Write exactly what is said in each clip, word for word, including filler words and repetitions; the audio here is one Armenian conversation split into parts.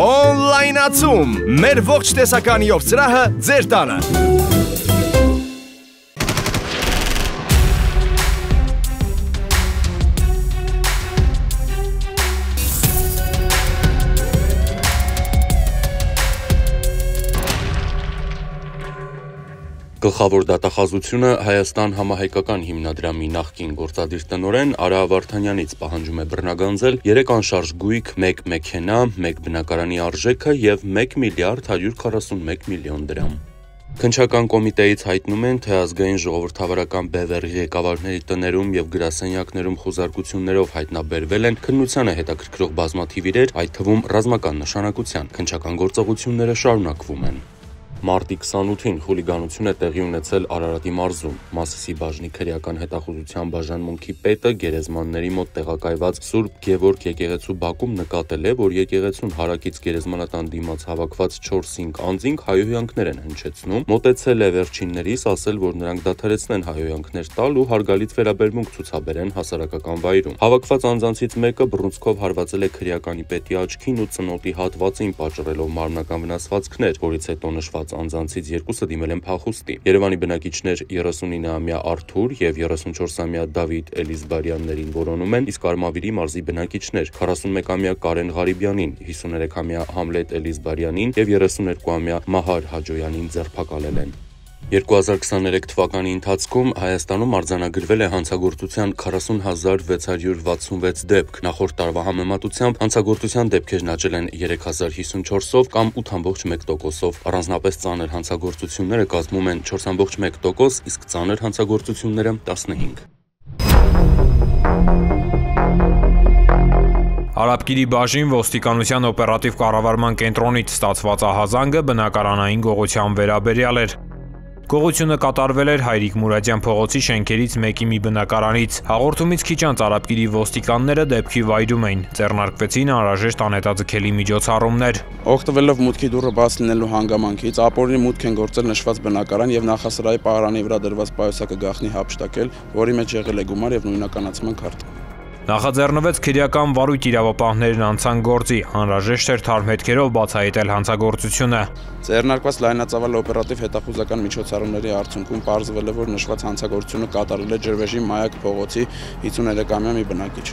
Օնլայնացում, մեր ողջ տեսականիով սրահը ձեր տանը։ Գլխավոր դատախազությունը Հայաստան համահայկական հիմնադրամի նախկին գործադիր տնօրեն Արա Վարդանյանից պահանջում է բռնագանձել երեք անշարժ գույք, մեկ մեքենա, մեկ բնակարանի արժեքը եւ մեկ միլիարդ հարյուր քառասունմեկ միլիոն դրամ։ Քննչական կոմիտեից հայտնում են, թե ազգային ժողովրդավարական բևեռի ղեկավարների տներում եւ գրասենյակներում խոզարկություններով հայտնաբերվել են քննությանը հետաքրքրող բազմաթիվ իրեր, այդ թվում ռազմական նշանակության։ Քննչական գործողությունները շարունակվում են։ Մարտի քսանութին խուլիգանություն է տեղի ունեցել Արարատի մարզում։ Մասիսի բաժնի քրեական հետախուզության բաժանմունքի պետը գերեզմանների մոտ տեղակայված Սուրբ Գևորգ եկեղեցու բակում նկատել է, որ եկեղեցուն հարակից գերեզմանատան դիմաց հավաքված չորս-հինգ անձինք հայհոյանքներ են հնչեցնում, մոտեցել է վերջիններիս, ասել, որ նրանք դադարեցնեն հայհոյանքներ տալ ու հարգալից վերաբերմունք ցուցաբերեն հասարակական վայրում։ Հավաքված անձանցից մեկը բռունցքով հարվածել է քրեականի պետի աչքին ու ծնոտի հատվածին, պատճառելով մարմնական վնասվածքներ, որից հետո նշված անձանցից երկուսը դիմել են փախուստի։ Երևանի բնակիչներ երեսունինամյա Արթուր եւ երեսունչորսամյա Դավիթ Էլիզբարյաններին որոնում են, իսկ Արմավիրի մարզի բնակիչներ քառասունմեկամյա Կարեն Ղարիբյանին, հիսուներեքամյա Համլետ Էլիզբարյանին եւ երեսուներկուամյա Մահար Հաջոյանին ձերբակալել են։ երկու հազար քսաներեք թվականի ընթացքում Հայաստանում արձանագրվել է հանցագործության քառասուն հազար վեց հարյուր վաթսունվեց դեպք։ Նախորդ տարվա համեմատությամբ հանցագործության դեպքերն աճել են երեք հազար հիսունչորսով կամ ութ ամբողջ մեկ տոկոսով։ Առանձնապես ծանր հանցագործությունները կազմում են չորս ամբողջ մեկ տոկոս, իսկ ծանր հանցագործությունները տասնհինգ։ Արաբկիրի բաժին ոստիկանության օպերատիվ կառավարման կենտրոնից ստացված ահազանգը բնակարանային գողության վերաբերյալ էր։ Գողությունը կատարվել էր Հայրիկ Մուրադյան փողոցի շենքերից մեկի մի բնակարանից։ Հաղորդումից քիչ անց Արաբկիրի ոստիկանները դեպքի վայրում էին։ Ձեռնարկվեցին անհրաժեշտ անհետաձգելի միջոցառումներ։ Օգտվելով մուտքի դուռը բաց լինելու հանգամանքից, ապօրինի մուտք են գործել նշված բնակարան եւ նախասրահի պահարանի վրա դրված պայուսակը գաղտնի հափշտակել, որի մեջ եղել է գումար եւ նույնականացման քարտ։ Նախաձեռնվեց քրեական վարույթ իրավապահներն անցան գործի, անհրաժեշտ էր թարմ հետքերով բացահայտել հանցագործությունը։ Ձեռնարկված լայնածավալ օպերատիվ հետախուզական միջոցառումների արդյունքում պարզվել է, որ նշված հանցագործությունը կատարել է Ջրվեժի Մայակ փողոցի հիսուներեքամյա մի բնակիչ։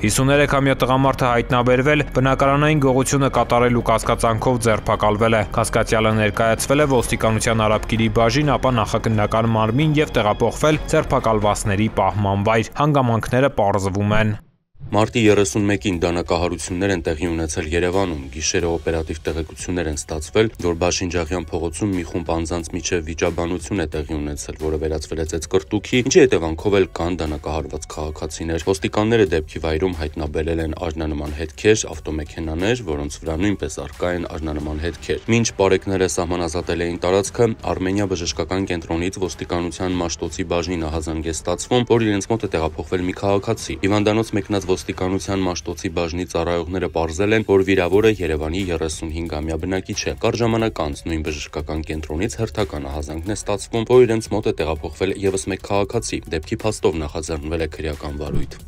հիսուներեքամյա տղամարդը հայտնաբերվել, բնակարանային գողությունը կատարելու կասկածանքով ձերբակալվել է։ Կասկածյալը ներկայացվել է ոստիկանության Արաբկիրի բաժին, ապա նախաքննական մարմին եւ տեղափոխվել ձերբակալվածների պահման վայր։ Հանգամանքները պարզվում են։ Մարտի երեսունմեկին դանակահարություններ են տեղի ունեցել Երևանում։ Գիշերը օպերատիվ տեղեկություններ են ստացվել, որ Բաշինջաղյան փողոցում մի խումբ անձանց միջև վիճաբանություն է տեղի ունեցել, որը վերածվել է ծեծկռտուքի, ինչի հետևանքով էլ կան դանակահարված քաղաքացիներ։ Ոստիկանները դեպքի վայրում հայտնաբերել են արժանանման հետքեր, ավտոմեքենաներ, որոնց վրա նույնպես առկա են արժանանման հետքեր։ Մինչ պարեկները սահմանազատել էին տարածքը, Արմենիա բժշկական կենտրոնից ոստիկանության Մաշտոցի բաժնին ահազանգ է ստացվում, որ իրենց մոտ է տեղափոխվել մի քաղաքացի։ Հիվանդանոց մեկնած ոստիկանության Մաշտոցի բաժնի ծառայողները պարզել են, որ վիրավորը Երևանի երեսունհինգամյա բնակիչ է։ Կարճ ժամանակ անց նույն բժշկական կենտրոնից հերթական ահազանգն է ստացվում, որ իրենց մոտ է տեղափոխվել եւս մեկ քաղաքացի։ Դեպքի փաստով նախաձեռնվել է քրեական վարույթ։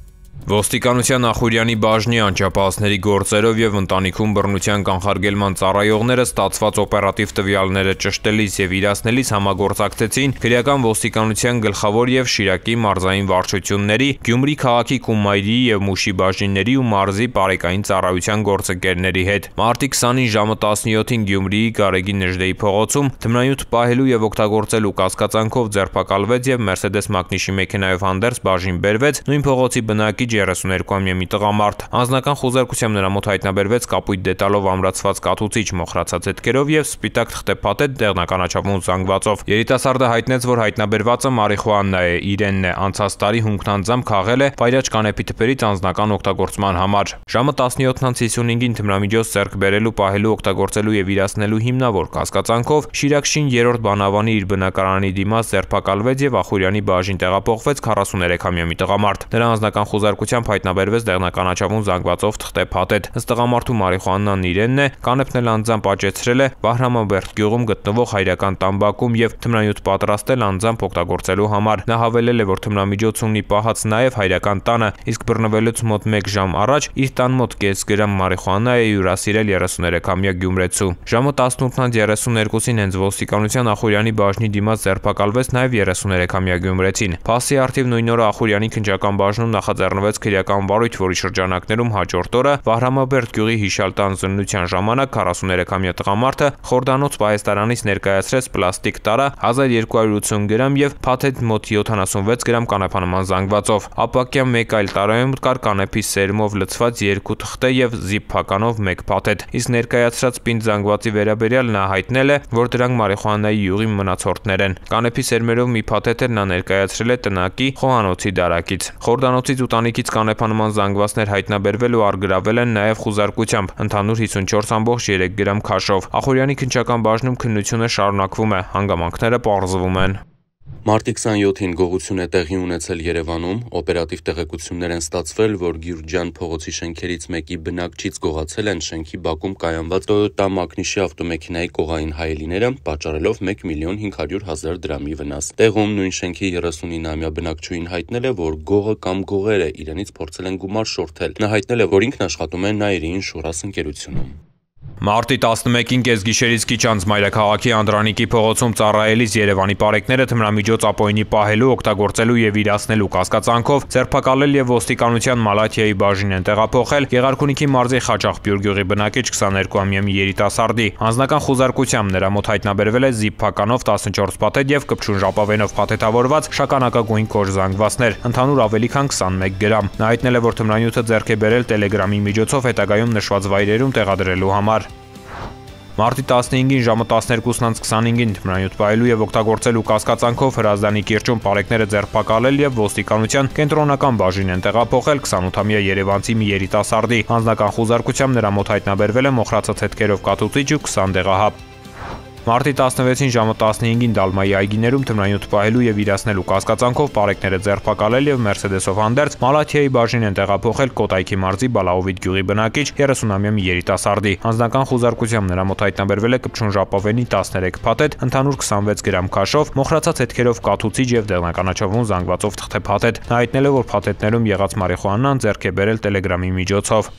Ոստիկանության Նախուրյանի բաժնի անչափահասների գործերով եւ ընտանիքում բռնության կանխարգելման ծառայողները ստացված օպերատիվ տվյալները ճշտելիս եւ իրացնելիս համագործակցեցին քրեական ոստիկանության գլխավոր եւ Շիրակի մարզային վարչությունների, Գյումրի քաղաքի Կումայրի եւ Մուշի բաժինների ու մարզի բարեկային ծառայության գործընկերների հետ։ Մարտի քսանին ժամը տասնյոթին Գյումրիի Գարեգի Նժդեի փողոցում թմրանյութ պահելու եւ օգտագործելու կասկածանքով ձերբակալվեց եւ Մերսեդես Մակնիշի մեքենայով հանդերձ բաժին բերվեց նույն փողոցի բնակիչ երեսուներկուամյա մի տղամարդ։ Անձնական խոզարկությամբ նրա մոտ հայտնաբերվեց կապույտ դետալով ամրացված կաթուցիչ մոխրացած հետքերով եւ սպիտակ թղթեպատետ դեղնականաչափուն զանգվածով։ Երիտասարդը հայտնեց, որ հայտնաբերվածը մարիխուանա է, իրենն է, անցած տարի հունգնանձամբ քաղել է վայրաճ կանեփի թփերից անձնական օգտագործման համար։ Ժամը տասնյոթն հիսունհինգին թմրամիջոց ձեռք բերելու, պահելու, օգտագործելու եւ իրացնելու հիմնավոր կասկածանքով Շիրակշին երրորդ բանավանի իր բնակարանի դիմաց ձերբակալվեց եւ Ախուրյանի բաժին տեղափոխվեց քառասուներեքամյա մի տղամարդ։ Նրա անձնական խոզարկության խուզարկությամբ հայտնաբերվեց դեղնականաչավուն զանգվածով թղթե փաթեթ։ Ըստ տղամարդու մարիխուանան իրենն է, կանեփն էլ անձամբ աճեցրել է Վահրամաբերդ գյուղում գտնվող հայրական տամբակում եւ թմրանյութ պատրաստել անձամբ օգտագործելու համար։ Նա հավելել է, որ թմրամիջոց ունի պահած նաեւ հայրական տանը, իսկ բռնվելուց մոտ մեկ ժամ առաջ իր տան մոտ կես գրամ մարիխուանա է հյուրասիրել երեսուներեքամյա գյումրեցու։ Ժամը տասնութն երեսուներկուսին հենց ոստիկանության Ախուրյանի բաժնի դիմաց ձերբակալվեց նաեւ երեսուներեքամյա գյումրեցին։ Փասի արդիվ նույն օրը Ախուրյանի քննչական բաժնում նախաձեռնվեց քրեական վարույթ, որի շրջանակներում հաջորդ օրը Վահրամաբերդ գյուղի հիշյալ տան զննության ժամանակ քառասուներեքամյա տղամարդը խորդանոց պահեստարանից ներկայացրեց պլաստիկ տարա հազար երկու հարյուր ութսուն գրամ եւ փաթեթ մոտ յոթանասունվեց գրամ կանեփանման զանգվածով։ Ապակյա մեկ այլ տարայում կար կանեփի սերմով լցված երկու թղթե եւ զիպ փականով մեկ փաթեթ։ Իսկ ներկայացրած պինդ զանգվածի վերաբերյալ նա հայտնել է, որ դրանք մարիխուանայի յուղի մնացորդներ են։ Կանեփի սերմերով մի փաթեթ էլ նա ներկայացրել է տնակի խոհանոցի դարակից։ Խորդանոցից ու տանիքից կանեփանման զանգվածներ հայտնաբերվել ու արգրավել են նաեւ խուզարկությամբ ընդհանուր հիսունչորս ամբողջ երեք գրամ քաշով։ Ախուրյանի քննչական բաժնում քննությունը շարունակվում է, հանգամանքները պարզվում են։ Մարտի քսանյոթին գողություն է տեղի ունեցել Երևանում, օպերատիվ տեղեկություններ են ստացվել, որ Գյուրջյան փողոցի շենքերից մեկի բնակչից գողացել են շենքի բակում կայանված Toyota Magnishի ավտոմեքենայի կողային հայելիները, պատճառելով մեկ միլիոն հինգ հարյուր հազար դրամի վնաս։ Տեղում նույն շենքի երեսունինամյա բնակչուհին հայտնել է, որ գողը կամ գողերը իրենից փորձել են գումար շորթել։ Նա հայտնել է, որ ինքն աշխատում է Nairi Insurance ընկերությունում։ Մարտի տասնմեկին կեսգիշերից քիչ անց մայրաքաղաքի Անդրանիկի փողոցում ծառայելիս Երևանի պարեկները թմրամիջոց ապօրինի պահելու, օգտագործելու եւ իրացնելու կասկածանքով ձերբակալել եւ ոստիկանության Մալաթիայի բաժին են տեղափոխել Գեղարքունիքի մարզի Խաչաղբյուր գյուղի բնակիչ քսաներկուամյա մի երիտասարդի։ Անձնական խուզարկությամբ նրա մոտ հայտնաբերվել է զիպ փականով տասնչորս փաթեթ եւ կպչուն ժապավենով փաթեթավորված շագանակագույն կոշ զանգվածներ, ընդհանուր ավելի քան քսանմեկ գրամ։ Նա հայտնել է, որ թմրանյութը ձեռք է բերել Telegram-ի միջոցով հետագայում նշված վայրերում տեղադրելու համար։ Մարտի տասնհինգին ժամը տասներկուսն քսանհինգին թմրանյութ պահելու եւ օգտագործելու կասկածանքով Հրազդանի կիրճում պարեկները ձերբակալել եւ ոստիկանության կենտրոնական բաժին են տեղափոխել քսանութամյա երևանցի մի երիտասարդի։ Անձնական խուզարկությամբ նրա մոտ հայտնաբերվել է մոխրացած հետքերով կաթուցիչ ու քսան դեղահապ։ Մարտի տասնվեցին ժամը տասնհինգին Դալմայի այգիներում թմրանյութ պահելու եւ իրացնելու կասկածանքով պարեկները ձերբակալել եւ Մերսեդեսով հանդերձ Մալաթիայի բաժին են տեղափոխել Կոտայքի մարզի Բալաովիտ գյուղի բնակիչ երեսունամյա մի երիտասարդի։ Անձնական խուզարկությամբ նրա մոտ հայտնաբերվել է կպչուն ժապավենի տասներեք փաթեթ, ընդհանուր քսանվեց գրամ քաշով, մոխրացած հետքերով կաթուցիչ եւ դեղնականաչավուն զանգվածով թղթե փաթեթ։ Նա հայտնել է, որ փաթեթներում եղած մարիխուանան ձեռք է բերել Telegram-ի միջոցով։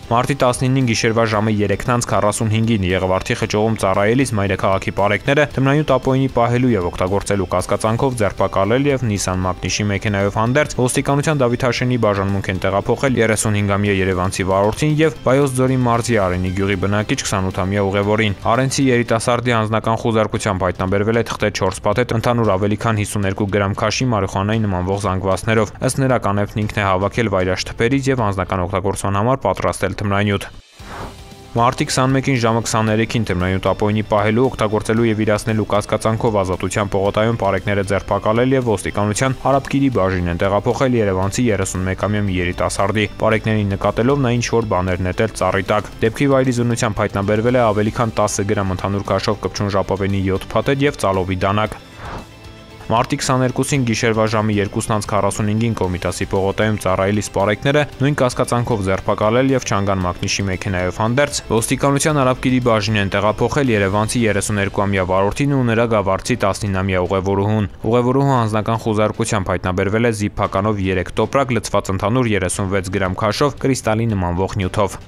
Մարտի տասնինին գիշերվա ժամը երեքն քառասունհինգին Եղվարդի խճողում ծառայելիս մայրաքաղաքի պարեկները թմրանյութ ապօրինի պահելու եւ օգտագործելու կասկածանքով ձերբակալել եւ Nissan Magnishի մեքենայով հանդերձ ոստիկանության Դավիթ Հաշենի բաժանմունք են տեղափոխել երեսունհինգամյա երևանցի վարորդին եւ Վայոց ձորի մարզի Արենի գյուղի բնակիչ քսանութամյա ուղևորին։ Արենցի երիտասարդի անձնական խուզարկությամբ հայտնաբերվել է թղթե չորս փաթեթ, ընդհանուր ավելի քան հիսուներկու գրամ քաշի մարիխուանայի նմանվող զանգվածներով։ Ըստ նրա կանեփն ինքն է հավաքել վայրաշտպերից եւ անձնական օգտագործման համար պատրաստել թմրանյութ։ Մարտի քսանմեկին ժամը քսաներեքին թմրանյութ ապօրինի պահելու, օգտագործելու եւ իրացնելու կասկածանքով Ազատության պողոտայում պարեկները ձերբակալել եւ ոստիկանության Արաբկիրի բաժին են տեղափոխել երևանցի երեսունմեկամյա մի երիտասարդի։ Պարեկներին նկատելով նա ինչ որ բաներ նետել ծառի տակ։ Դեպքի վայրի զննությամբ հայտնաբերվել է ավելի քան տասը գրամ ընդհանուր քաշով կպչուն ժապավենի յոթ փաթեթ եւ ծալովի դանակ։ Մարտի քսաներկուսին գիշերվա ժամը երկուսն քառասունհինգին Կոմիտասի պողոտայում ծառայելիս պարեկները նույն կասկածանքով ձերբակալել եւ Չանգան Մագնիշի մեքենայով հանդերձ ոստիկանության Արաբկիրի բաժին են տեղափոխել երևանցի երեսուներկուամյա վարորդին ու նրա գավառցի տասնինամյա ուղևորուհուն։ Ուղևորուհու անձնական խուզարկությամբ հայտնաբերվել է զիպ փականով երեք տոպրակ լցված ընդհանուր երեսունվեց գրամ քաշով կրիստալի նմանվող նյութով։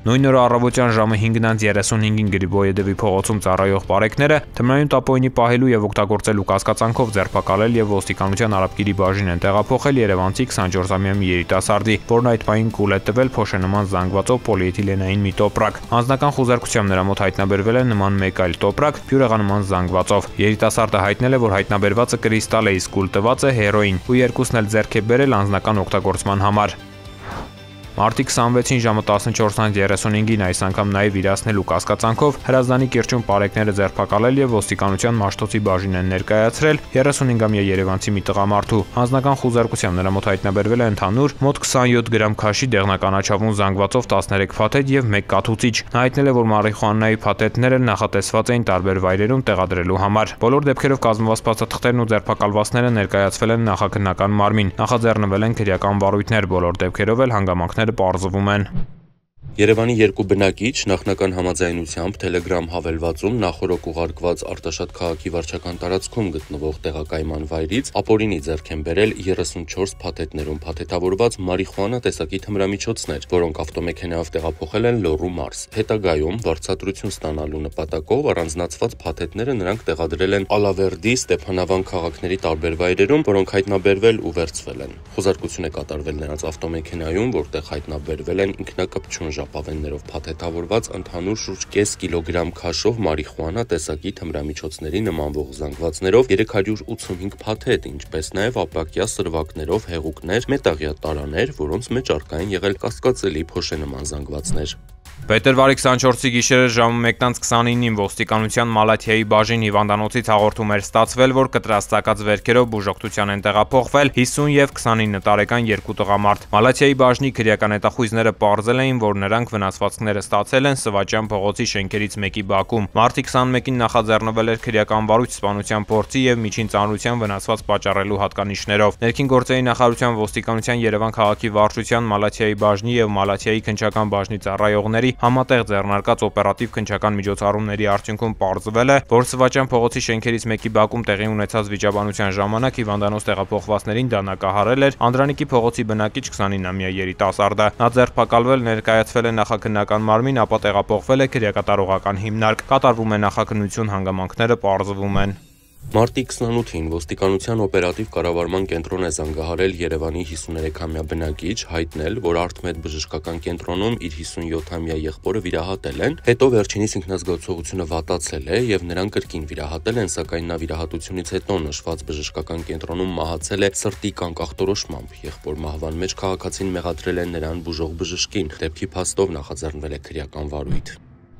Նույն օրը առավոտյան ժամը հինգն երեսունհինգին Գրիբոյեդովի փողոցում ծառայող պարեկները թմրանյութ ապօրինի պահելու եւ օգտագործելու կասկածանքով ձերբակալել եւ ոստիկանության Արաբկիրի բաժին են տեղափոխել երևանցի քսանչորսամյա մի երիտասարդի, որն այդ պահին կուլ է տվել փոշենման զանգվածով պոլիէթիլենային մի տոպրակ։ Անձնական խուզարկությամբ նրա մոտ հայտնաբերվել է նման մեկ այլ տոպրակ բյուրեղանման զանգվածով։ Երիտասարդը հայտնել է, որ հայտնաբերվածը կրիստալ է, իսկ կուլ տվածը հերոին, ու երկուսն էլ ձեռք է բերել անձնական օգտագործման համար։ Մարտի քսանվեցին ժամը տասնչորս երեսունհինգին այս անգամ նաև իրացնելու կասկածանքով Հրազդանի կիրճում պարեկները ձերբակալել եւ ոստիկանության Մաշտոցի բաժին են ներկայացրել երեսունհինգամյա երևանցի մի տղամարդու։ Հանձնական խուզարկությամբ նրա մոտ հայտնաբերվել է ընդհանուր մոտ քսանյոթ գրամ քաշի դեղնականաչավուն զանգվածով տասներեք փաթեթ եւ մեկ կաթուծիչ։ Նա հայտնել է, որ մարիխուանայի փաթեթները նախատեսված էին տարբեր վայրերում տեղադրելու համար։ Բոլոր դեպքերով կազմված փաստաթղթերն ու ձերբակալվածները ներկայացվել են նախաքննական մարմին։ Նախաձեռնվել են քրեական վարույթներ, բոլոր դեպքերով էլ հանգամանքները պարզվում են։ Երևանի երկու բնակիչ նախնական համաձայնությամբ Telegram հավելվածում նախորոք ուղարկված Արտաշատ քաղաքի վարչական տարածքում գտնվող տեղակայման վայրից ապօրինի ձեռք են բերել երեսունչորս փաթեթներում փաթեթավորված մարիխուանա տեսակի թմրամիջոցներ, որոնք ավտոմեքենայով տեղափոխել են Լոռու մարզ։ Հետագայում վարձատրություն ստանալու նպատակով առանձնացված փաթեթները նրանք տեղադրել են Ալավերդի, Ստեփանավան քաղաքների տարբեր վայրերում, որոնք հայտնաբերվել ու վերցվել են։ Խոզարկություն է կատարվել նրանց ավտոմեքենայում, որտեղ հայտնաբերվել են ինքնակպչուն ժապավեններով փաթեթավորված ընդհանուր շուրջ կես կիլոգրամ քաշով մարիխուանա տեսակի թմրամիջոցների նմանվող զանգվածներով երեք հարյուր ութսունհինգ փաթեթ, ինչպես նաև ապակյա սրվակներով հեղուկներ, մետաղյա տարաներ, որոնց մեջ առկա են եղել կասկածելի փոշենման զանգվածներ։ Փետրվարի քսանչորսի գիշերը ժամը մեկը քսանինին ոստիկանության Մալաթիայի բաժին հիվանդանոցից հաղորդում էր ստացվել, որ կտրաստակած վերքերով բուժօգնության են տեղափոխվել հիսուն եւ քսանինը տարեկան երկու տղամարդ։ Մալաթիայի բաժնի քրեական հետախույզները պարզել էին, որ նրանք վնասվածքները ստացել են Սվաճյան փողոցի շենքերից մեկի բակում։ Մարտի քսանմեկին նախաձեռնվել էր քրեական վարույթ սպանության փորձի եւ միջին ծանրության վնասված պատճառելու հատկանիշներով։ Ներքին գործերի նախարարության ոստիկանության Երևան քաղաքի վարչության Մալաթիայի բաժնի եւ Մալաթիայի քննչական բաժնի ծառայողների համատեղ ձեռնարկած օպերատիվ քննչական միջոցառումների արդյունքում պարզվել է, որ Սվաճյան փողոցի շենքերից մեկի բակում տեղի ունեցած վիճաբանության ժամանակ հիվանդանոց տեղափոխվածներին դանակահարել էր Անդրանիկի փողոցի բնակիչ քսանինամյա երիտասարդը։ Նա ձերբակալվել, ներկայացվել է նախաքննական մարմին, ապա տեղափոխվել է քրեակատարողական հիմնարկ։ Կատարվում է նախաքննություն, հանգամանքները պարզվում են։ Մարտի քսանութին ոստիկանության օպերատիվ կառավարման կենտրոն է զանգահարել Երևանի հիսուներեքամյա բնակիչ, հայտնել, որ Արթմեդ բժշկական կենտրոնում իր հիսունյոթամյա եղբորը վիրահատել են, հետո վերջինիս ինքնազգացողությունը վատացել է եւ նրան կրկին վիրահատել են, սակայն նա վիրահատությունից հետո նշված բժշկական կենտրոնում մահացել է սրտի կանկախտորոշմամբ։ Եղբոր մահվան մեջ քաղաքացին մեղադրել են նրան բուժող բժշկին, դեպքի փաստով նախաձեռնվել է քրեական վարույթ։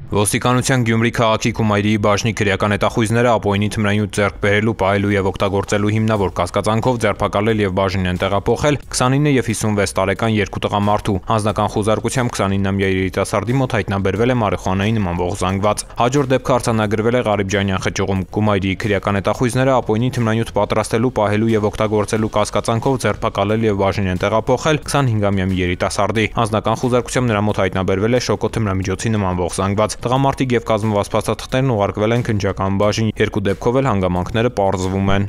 Ոստիկանության Գյումրի քաղաքի Կումայրիի բաժնի քրեական հետախույզները ապօրինի թմրանյութ ձեռք բերելու, պահելու եւ օգտագործելու հիմնավոր կասկածանքով ձերբակալել եւ բաժին են տեղափոխել քսանինը եւ հիսունվեց տարեկան երկու տղամարդու։ Հանձնական խոզարկությամբ քսանինամյա երիտասարդի մոտ հայտնաբերվել է մարիխուանայի նմանվող զանգված։ Հաջորդ դեպքը արձանագրվել է Ղարիբջանյան խճուղում։ Կումայրիի քրեական հետախույզները ապօրինի թմրանյութ պատրաստելու, պահելու եւ օգտագործելու կասկածանքով ձերբակալել եւ բաժին են տեղափոխել քսանհինգամյա մի երիտասարդի։ Հանձնական խոզարկությամբ նրա մոտ հայտնաբերվել է շոկո թմրամիջոցի նմանվող զանգված։ Տղամարդիկ եւ կազմված փաստաթղթերն ուղարկվել են քննչական բաժին, երկու դեպքով էլ հանգամանքները պարզվում են։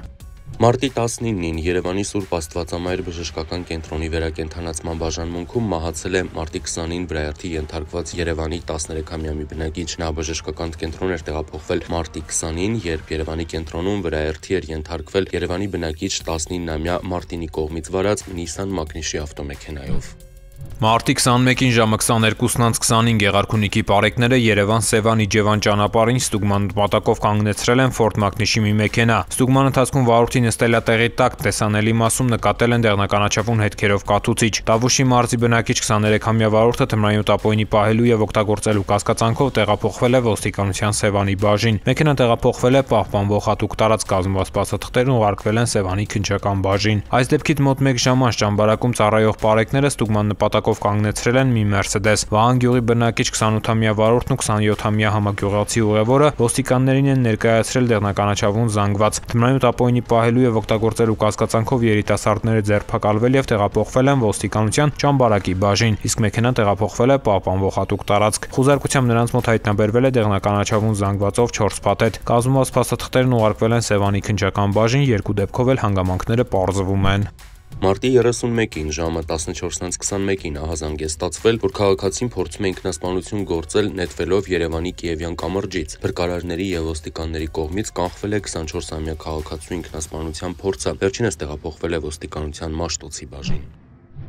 Մարտի տասնինին Երևանի Սուրբ Աստվածամայր բժշկական կենտրոնի վերակենդանացման բաժանմունքում մահացել է մարտի քսանին վրայերթի ենթարկված Երևանի տասներեքամյա մի բնակիչ։ Նա բժշկական կենտրոն էր տեղափոխվել մարտի քսանին, երբ Երևանի կենտրոնում վրայերթի էր ենթարկվել Երևանի բնակիչ տասնինամյա Մարտինի կողմից վարած Nissan Magnishի ավտոմեքենայով։ Մարտի քսանմեկին ժամը քսաներկուսն քսանին Գեղարքունիքի պարեկները Երևան-Սևան-Իջևան ճանապարհին ստուգման նպատակով կանգնեցրել են Ford Magnishի մի մեքենա։ Ստուգման ընթացքում վարորդի նստելատեղի տակ տեսանելի մասում նկատել են դեղնականաչավուն հետքերով կաթուծիչ։ Տավուշի մարզի բնակիչ քսաներեքամյա վարորդը թմրանյութ ապօրինի պահելու եւ օգտագործելու կասկածանքով տեղափոխվել է ոստիկանության Սևանի բաժին։ Մեքենան տեղափոխվել է պահպանվող հատուկ տարածք, կազմված փաստաթղթերն ուղարկվել են Սևանի քննչական բաժին։ Այս դեպքից մոտ մեկ ժամ անց ճամբարակում ծառայող պարեկները ստուգման նպատակով կանգնեցրել են մի Mercedes։ Վահան գյուղի բնակիչ քսանութամյա վարորդն ու քսանյոթամյա համագյուղացի ուղևորը ոստիկաններին են ներկայացրել դեղնականաչավուն զանգված։ Թմրանյութ ապօրինի պահելու եւ օգտագործելու կասկածանքով երիտասարդները ձերբակալվել եւ տեղափոխվել են ոստիկանության ճամբարակի բաժին, իսկ մեքենան տեղափոխվել է պահպանվող հատուկ տարածք։ Խոզարկությամբ նրանց մոտ հայտնաբերվել է դեղնականաչավուն զանգվածով չորս փաթեթ։ Կազմված փաստաթղթերն ուղարկվել են Սևանի քննչական բաժին, երկու դեպքով էլ հանգամանքները պարզվում են։ Մարտի երեսունմեկին ժամը տասնչորսն քսանմեկին ահազանգ է ստացվել, որ քաղաքացին փորձում է ինքնասպանություն գործել նետվելով Երևանի Կիևյան կամրջից։ Փրկարարների եւ ոստիկանների կողմից կանխվել է քսանչորսամյա քաղաքացու ինքնասպանության փորձը։ Վերջինս տեղափոխվել է ոստիկանության Մաշտոցի բաժին։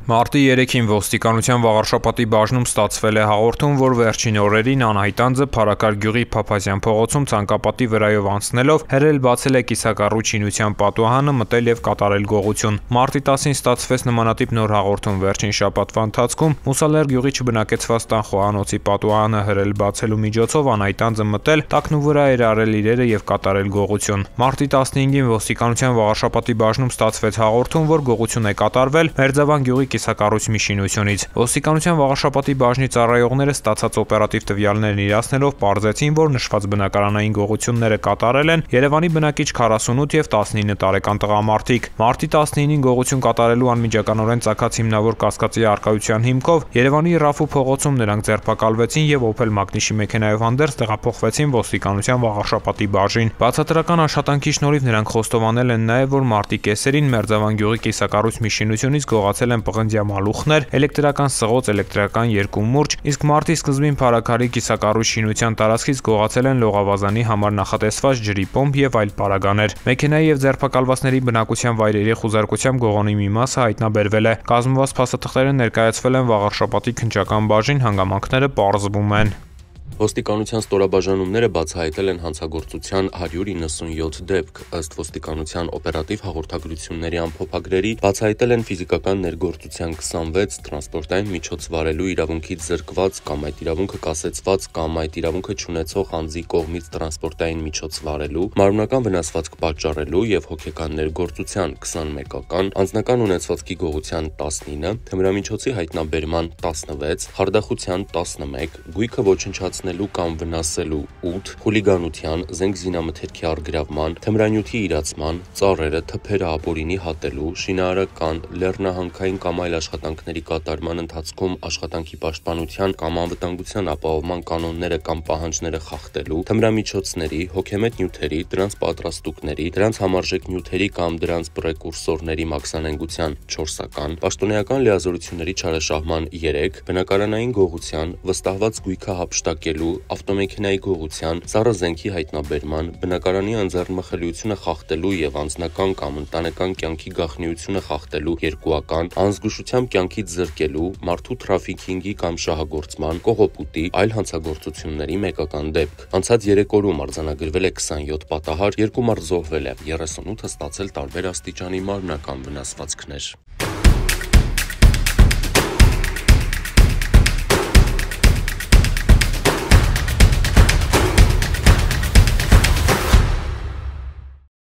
Մարտի երեքին ոստիկանության Վաղարշապատի բաժնում ստացվել է հաղորդում, որ վերջին օրերին անհայտ անձը Փարաքար գյուղի Փափազյան փողոցում ցանկապատի վրայով անցնելով հերել բացել է կիսակառույց շինության պատուհանը, մտել եւ կատարել գողություն։ Մարտի տասին ստացվեց նմանատիպ նոր հաղորդում։ Վերջին շաբաթվա ընթացքում Մուսալեր գյուղի չբնակեցված տան խոհանոցի պատուհանը հերել բացելու միջոցով անհայտ անձը մտել, տակնու վրա էր արել իրերը եւ կատարել գողություն։ Մարտի տասնհինգին ոստիկանության Վաղարշապատի բաժնում ստացվեց հաղորդում, որ գողություն է կատարվել Մերձավան գյուղի կիսակառույց մի շինությունից։ Ոստիկանության Վաղարշապատի բաժնի ծառայողները ստացած օպերատիվ տվյալներն իրացնելով պարզեցին, որ նշված բնակարանային գողությունները կատարել են Երևանի բնակիչ քառասունութ եւ տասնինը տարեկան տղամարդիկ։ Մարտի տասնինին գողություն կատարելու անմիջականորեն ծագած հիմնավոր կասկածի առկայության հիմքով Երևանի Ռաֆու փողոցում նրանք ձերբակալվեցին եւ Opel Magnus-ի մեքենայով հանդերձ տեղափոխվեցին ոստիկանության Վաղարշապատի բաժին։ Բացատրական աշխատանքի շնորհիվ նրանք խոստովանել են նաեւ, որ մարտի կեսերին Մերձավան գյուղի կիսակառույց մի շինությունից գողացել են պղնձյա մալուխներ, էլեկտրական սղոց, էլեկտրական երկու մուրջ, իսկ մարտի սկզբին Փարաքարի կիսակառույց շինության տարածքից գողացել են լողավազանի համար նախատեսված ջրի պոմպ եւ այլ պարագաներ։ Մեքենայի եւ ձերբակալվածների բնակության վայրերի խուզարկությամբ գողոնի մի մասը հայտնաբերվել է։ Կազմված փաստաթղթերը ներկայացվել են Վաղարշապատի քննչական բաժին, հանգամանքները պարզվում են։ Ոստիկանության ստորաբաժանումները բացահայտել են հանցագործության հարյուր իննսունյոթ դեպք, ըստ ոստիկանության օպերատիվ հաղորդագրությունների ամփոփագրերի բացահայտել են ֆիզիկական ներգործության քսանվեց, տրանսպորտային միջոց վարելու իրավունքից զրկված կամ այդ իրավունքը կասեցված կամ այդ իրավունքը չունեցող անձի կողմից տրանսպորտային միջոց վարելու, մարմնական վնասվածք պատճառելու եւ հոգեկան ներգործության քսանմեկական, անձնական ունեցվածքի գողության տասնինը, թմրամիջոցի հայտնաբերման տասնվեց, խարդախության տասնմեկ, գույքը ոչնչացնելու կամ վնասելու ութ, խուլիգանության, զենք զինամթերքի առգրավման, թմրանյութի իրացման, ծառերը, թփերը ապօրինի հատելու, շինարարական, լեռնահանքային կամ այլ աշխատանքների կատարման ընթացքում աշխատանքի պաշտպանության կամ անվտանգության ապահովման կանոնները կամ պահանջները խախտելու, թմրամիջոցների, հոգեմետ նյութերի, դրանց պատրաստուկների, դրանց համարժեք նյութերի կամ դրանց պրեկուրսորների մաքսանենգության չորսական, պաշտոնեական լիազորությունների չարաշահման երեք, բնակարանային գողության, վստահված գույքը հափշտակելու, ավտոմեքենայի գողության, սառը զենքի հայտնաբերման, բնակարանի անձեռնմխելիությունը խախտելու եւ անձնական կամ ընտանեկան կյանքի գաղտնիությունը խախտելու երկուական, անզգուշությամբ կյանքից զրկելու, մարդու թրաֆիքինգի կամ շահագործման, կողոպուտի, այլ հանցագործությունների մեկական դեպք։ Անցած երեք օրում արձանագրվել է քսանյոթ պատահար, երկու մարդ զոհվել է, երեսունութը ստացել տարբեր աստիճանի մարմնական վնասվածքներ։